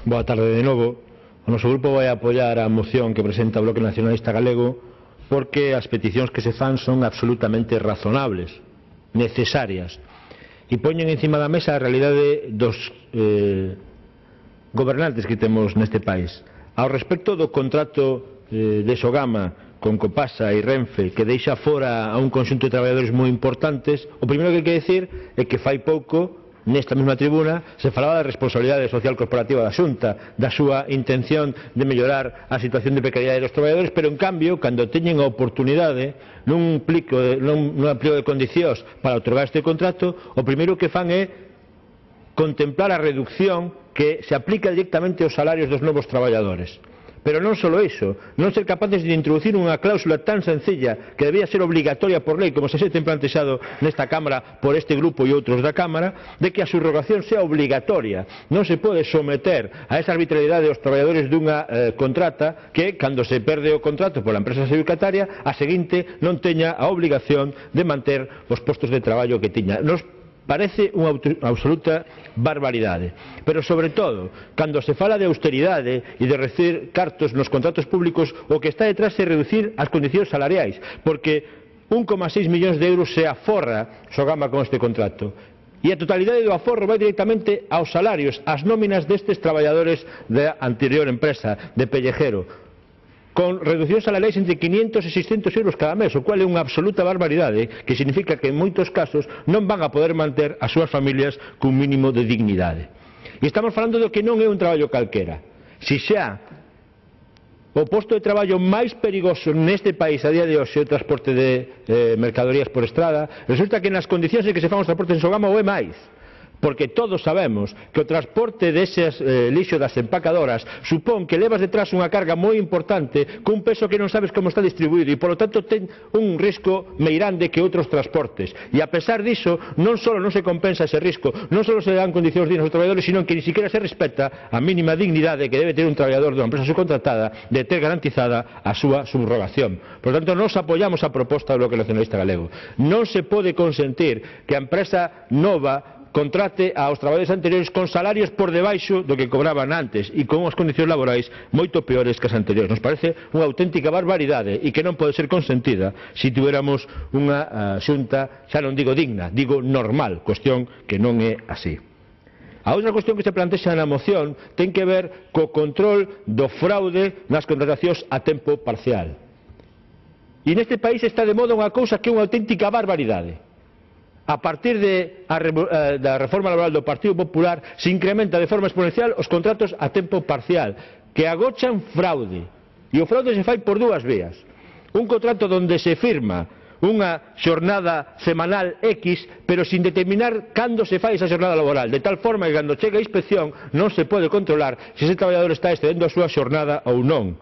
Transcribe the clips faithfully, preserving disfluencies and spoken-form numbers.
Boa tarde de novo. O noso grupo vai apoiar a moción que presenta o Bloque Nacionalista Galego porque as peticións que se fan son absolutamente razonables, necesarias, e poñen encima da mesa a realidade dos eh, gobernantes que temos neste país. Ao respecto do contrato eh, de Sogama con Copasa e Renfe, que deixa fora a un conxunto de traballadores moi importantes, o primeiro que hai que decir é que fai pouco, nesta mesma tribuna, se falaba da responsabilidade social corporativa da Xunta, da súa intención de mellorar a situación de precariedade dos traballadores, pero en cambio, cando teñen a oportunidade nun plico, nun, nun plico de condicións para otorgar este contrato, o primeiro que fan é contemplar a reducción que se aplica directamente aos salarios dos novos traballadores. Pero non só iso, non ser capaces de introducir unha cláusula tan sencilla que debía ser obligatoria por lei, como se ten plantexado nesta Cámara por este grupo e outros da Cámara, de que a subrogación sea obligatoria. Non se pode someter a esa arbitrariedade aos traballadores dunha eh, contrata que, cando se perde o contrato pola empresa adxudicataria, a seguinte non teña a obligación de manter os postos de traballo que tiña. Nos parece unha absoluta barbaridade, pero sobre todo cando se fala de austeridade e de recibir cartos nos contratos públicos, o que está detrás é reducir as condicións salariais, porque un coma seis millóns de euros se aforra Sogama con este contrato, e a totalidade do aforro vai directamente aos salarios, ás nóminas destes traballadores da anterior empresa de Pellejero, con reduccións salariais entre quinhentos e seiscentos euros cada mes, o cual é unha absoluta barbaridade, que significa que en moitos casos non van a poder manter as súas familias cun mínimo de dignidade. E estamos falando do que non é un traballo calquera. Si xa o posto de traballo máis perigoso neste país a día de hoxe é o transporte de eh, mercadorías por estrada, resulta que nas condicións en que se fan os transportes en Sogama o é máis. Porque todos sabemos que o transporte deses eh, lixo das empacadoras supón que levas detrás unha carga moi importante cun peso que non sabes como está distribuído e, polo tanto, ten un risco meirande que outros transportes. E, a pesar diso, non só non se compensa ese risco, non só se dan condicións dignas aos traballadores, sino que ni siquiera se respeta a mínima dignidade que debe ter un traballador dunha empresa subcontratada de ter garantizada a súa subrogación. Por tanto, nós apoiamos a proposta do Bloque Nacionalista Galego. Non se pode consentir que a empresa nova contrate aos traballadores anteriores con salarios por debaixo do que cobraban antes e con unhas condicións laborais moito peores que as anteriores. Nos parece unha auténtica barbaridade e que non pode ser consentida se tuviéramos unha uh, xunta, xa non digo digna, digo normal, cuestión que non é así. A outra cuestión que se plantexa na moción ten que ver co control do fraude nas contratacións a tempo parcial. E neste país está de moda unha cousa que é unha auténtica barbaridade. A partir de a, da reforma laboral do Partido Popular se incrementa de forma exponencial os contratos a tempo parcial, que agochan fraude. E o fraude se fai por dúas vías. Un contrato onde se firma unha xornada semanal X, pero sin determinar cando se fai esa xornada laboral, de tal forma que cando chega a inspección non se pode controlar se ese traballador está excedendo a súa xornada ou non.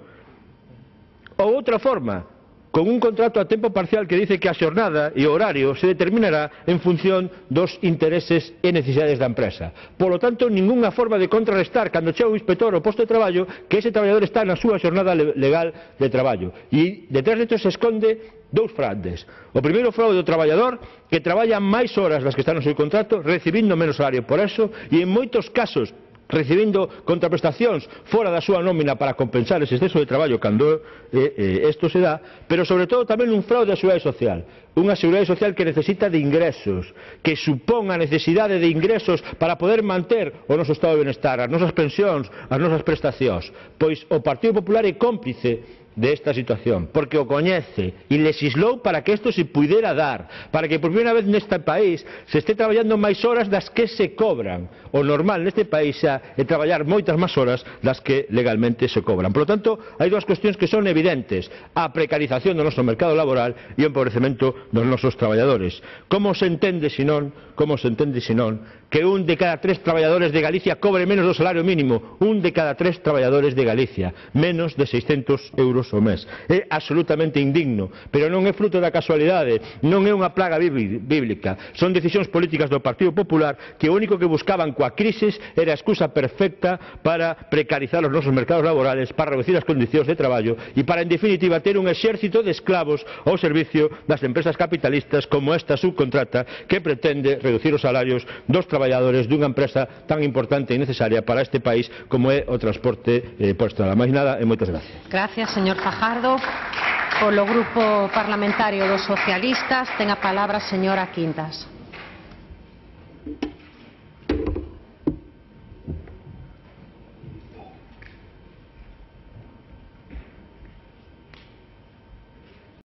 Ou outra forma, con un contrato a tempo parcial que dice que a xornada e o horario se determinará en función dos intereses e necesidades da empresa. Por lo tanto, ningunha forma de contrarrestar cando chega o inspector ao posto de traballo que ese traballador está na súa xornada legal de traballo. E detrás de isto se esconde dous fraudes. O primeiro fraude do traballador que traballa máis horas das que están no seu contrato, recibindo menos salario por eso, e en moitos casos recibindo contraprestacións fora da súa nómina para compensar ese exceso de traballo cando eh, eh, isto se dá, pero sobre todo tamén un fraude á seguridade social, unha seguridade social que necesita de ingresos, que supón a necesidade de ingresos para poder manter o noso estado de benestar, as nosas pensións, as nosas prestacións. Pois o Partido Popular é cómplice desta situación, porque o coñece e legislou para que isto se pudera dar, para que por primeira vez neste país se este traballando máis horas das que se cobran. O normal neste país xa é traballar moitas máis horas das que legalmente se cobran. Por lo tanto, hai dúas cuestións que son evidentes: a precarización do noso mercado laboral e o empobrecemento dos nosos traballadores. Como se entende senón, como se entende senón que un de cada tres traballadores de Galicia cobre menos do salario mínimo? Un de cada tres traballadores de Galicia, menos de seiscentos euros euros ao mes. É absolutamente indigno, pero non é fruto da casualidade, non é unha plaga bíblica. Son decisións políticas do Partido Popular que o único que buscaban coa crisis era a excusa perfecta para precarizar os nosos mercados laborales, para reducir as condicións de traballo e para, en definitiva, ter un exército de esclavos ao servicio das empresas capitalistas como esta subcontrata que pretende reducir os salarios dos traballadores dunha empresa tan importante e necesaria para este país como é o transporte eh, por estrada. Máis nada e moitas gracias. Gracias, señor Fajardo. Polo Grupo Parlamentario dos Socialistas ten a palabra a señora Quintas.